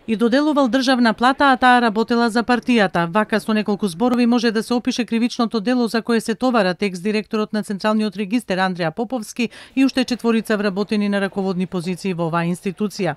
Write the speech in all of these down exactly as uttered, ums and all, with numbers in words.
и доделувал државна плата, а таа работела за партијата. Вака со неколку зборови може да се опише кривичното дело за кое се товара екс-директорот на Централниот регистер Андреа Поповски и уште четворица вработени на раководни позиции во оваа институција.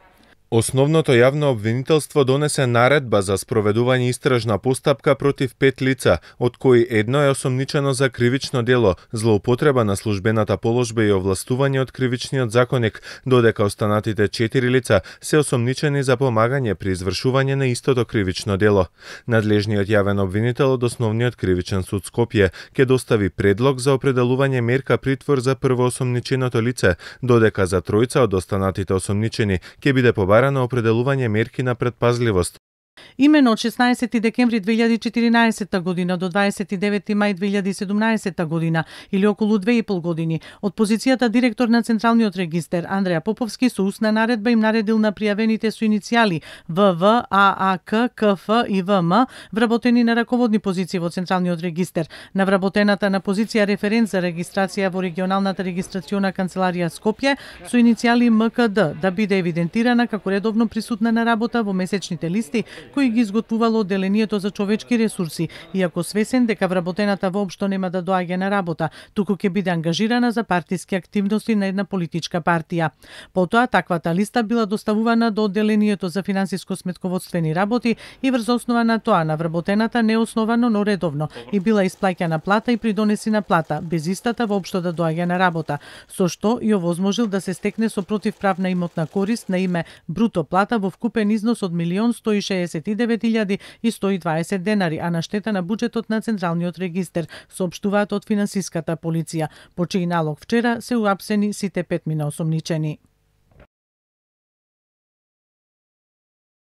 Основното јавно обвинителство донесе наредба за спроведување истражна постапка против пет лица, од кои едно е осомничено за кривично дело, злоупотреба на службената положба и овластување од кривичниот законник, додека останатите четири лица се осомничени за помагање при извршување на истото кривично дело. Надлежниот јавен обвинител од Основниот кривичен суд Скопје ќе достави предлог за определување мерка притвор за првоосомниченото лице, додека за тројца од останатите осомничени ќе биде побарано на определување мерки на предпазливост. Имено од шеснаесети декември две илјади и четиринаесетта година до дваесет и девети мај две илјади и седумнаесетта година, или околу две и пол години, од позицијата директор на Централниот регистер Андреа Поповски со устна наредба им наредил на пријавените со иницијали В В, А А К, К Ф и В М, вработени на раководни позиции во Централниот регистер, на вработената на позиција референт за регистрација во регионалната регистрациона канцеларија Скопје со иницијали М К Д, да биде евидентирана како редовно присутна на работа во месечните листи кои ги изготвувало одделението за човечки ресурси, иако свесен дека вработената воопшто нема да доаѓа на работа, туку ќе биде ангажирана за партиски активности на една политичка партија. Потоа, таквата листа била доставувана до одделението за финансиско-сметководствени работи и врз основа на тоа на вработената неосновано, но редовно и била исплаќана плата и придонесена плата, без истата воопшто да доаѓа на работа, со што и овозможил да се стекне со противправна имотна корист на име бруто плата во вкупен износ од милион сто и шеесет и девет илјади и сто и дваесет денари, а на штета на буџетот на Централниот регистер, соопштуваат од финансиската полиција, по чиј налог вчера се уапсени сите петмина осомничени.